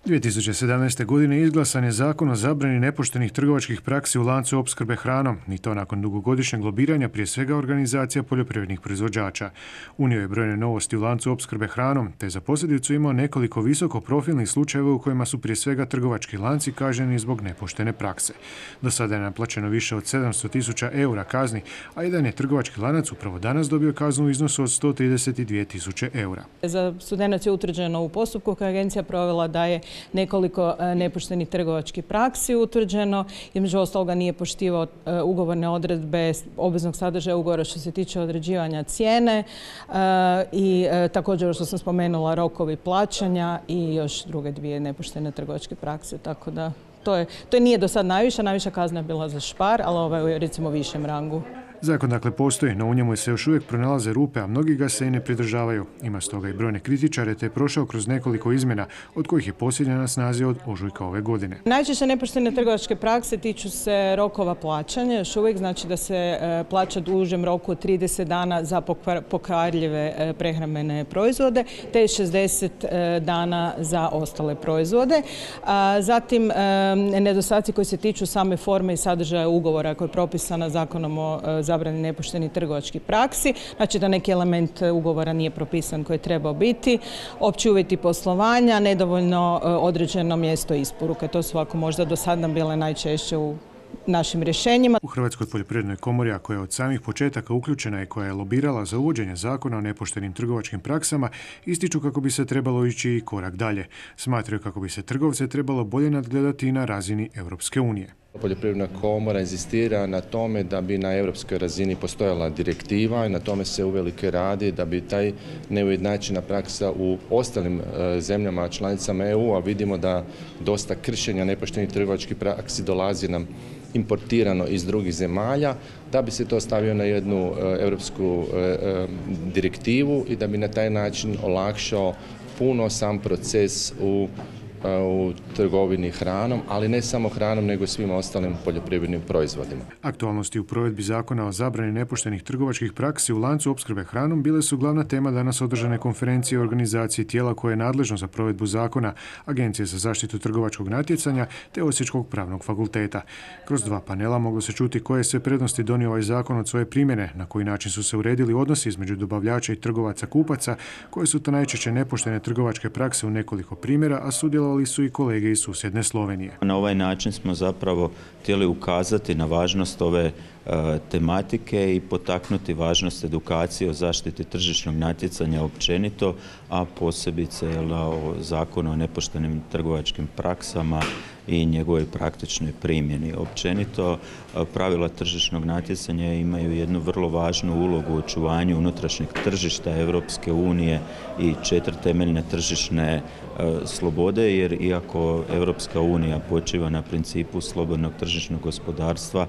2017. godine izglasan je zakon o zabrani nepoštenih trgovačkih praksi u lancu opskrbe hranom, i to nakon dugogodišnjeg lobiranja prije svega organizacija poljoprivrednih proizvođača. Unio je brojne novosti u lancu opskrbe hranom, te za posljedicu imao nekoliko visokoprofilnih slučajeva u kojima su prije svega trgovački lanci kažnjeni zbog nepoštene prakse. Do sada je naplaćeno više od 700.000 eura kazni, a jedan je trgovački lanac upravo danas dobio kaznu u iznosu od 132.000 eura. Za Studenac je utvrđeno u postupku koji je agencija provela da je nekoliko nepoštenih trgovačkih praksi utvrđeno. Između ostaloga nije poštivao ugovorne odredbe obveznog sadržaja ugovora što se tiče određivanja cijene i također što sam spomenula rokovi plaćanja i još druge dvije nepoštene trgovačke prakse. Tako da to nije do sad najviša kazna je bila za Spar, ali ovo je recimo u višem rangu. Zakon dakle postoji, no u njemu se još uvijek pronalaze rupe, a mnogi ga se i ne pridržavaju. Ima stoga i brojne kritičare, te je prošao kroz nekoliko izmjena, od kojih je posljednja na snazi od ožujka ove godine. Najčešće nepoštene trgovačke prakse tiču se rokova plaćanja. Još uvijek znači da se plaća u dužem roku od 30 dana za pokvarljive prehrambene proizvode, te 60 dana za ostale proizvode. Zatim, nedostaci koji se tiču same forme i sadržaja ugovora koji je propisana Zakonom o zabrani nepoštenih trgovačkih praksi, znači da neki element ugovora nije propisan koji je trebao biti, opći uvjeti poslovanja, nedovoljno određeno mjesto isporuke. To su ovako možda do sada bile najčešće u našim rješenjima. U Hrvatskoj poljoprivrednoj komori, a koja je od samih početaka uključena i koja je lobirala za uvođenje zakona o nepoštenim trgovačkim praksama, ističu kako bi se trebalo ići i korak dalje. Smatraju kako bi se trgovce trebalo bolje nadgledati i na razini Europske unije. Poljoprivredna komora inzistira na tome da bi na europskoj razini postojala direktiva i na tome se uvelike radi da bi taj neujednačena praksa u ostalim zemljama članicama EU, a vidimo da dosta kršenja nepoštenih trgovačkih praksi dolazi nam importirano iz drugih zemalja, da bi se to stavio na jednu europsku direktivu i da bi na taj način olakšao puno sam proces u trgovini hranom, ali ne samo hranom, nego i svim ostalim poljoprivrednim proizvodima. Aktualnosti u provedbi zakona o zabrani nepoštenih trgovačkih praksi u lancu opskrbe hranom bile su glavna tema danas održane konferencije o organizaciji tijela koje je nadležno za provedbu zakona, Agencije za zaštitu trgovačkog natjecanja te Osječkog pravnog fakulteta. Kroz dva panela moglo se čuti koje sve prednosti donio ovaj zakon od svoje primjene, na koji način su se uredili odnosi između dobavljača i trgovaca kupaca, koje su to najčešće nepoštene trgovačke prakse u nekoliko primjera, a sudjelovali su i kolege iz susjedne Slovenije. Na ovaj način smo zapravo htjeli ukazati na važnost ove tematike i potaknuti važnost edukacije o zaštiti tržišnog natjecanja općenito, a posebice o zakonu o nepoštenim trgovačkim praksama i njegovoj praktičnoj primjeni. Općenito, pravila tržišnog natjecanja imaju jednu vrlo važnu ulogu u očuvanju unutrašnjeg tržišta Europske unije i 4 temeljne tržišne slobode, jer iako Europska unija počiva na principu slobodnog tržišnog gospodarstva,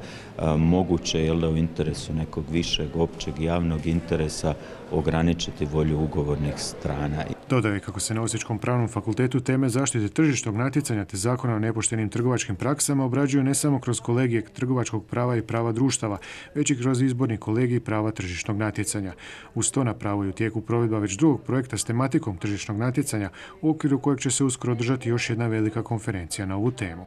moguće je u interesu nekog višeg općeg javnog interesa ograničiti volju ugovornih strana. Dodao je kako se na Osječkom pravnom fakultetu teme zaštite tržišnog natjecanja te zakona o nepoštenim trgovačkim praksama obrađuju ne samo kroz kolegije trgovačkog prava i prava društava, već i kroz izborni kolegij prava tržišnog natjecanja. Uz to na pravu je u tijeku provedba već drugog projekta s tematikom tržišnog natjecanja, u okviru kojeg će se uskoro održati još jedna velika konferencija na ovu temu.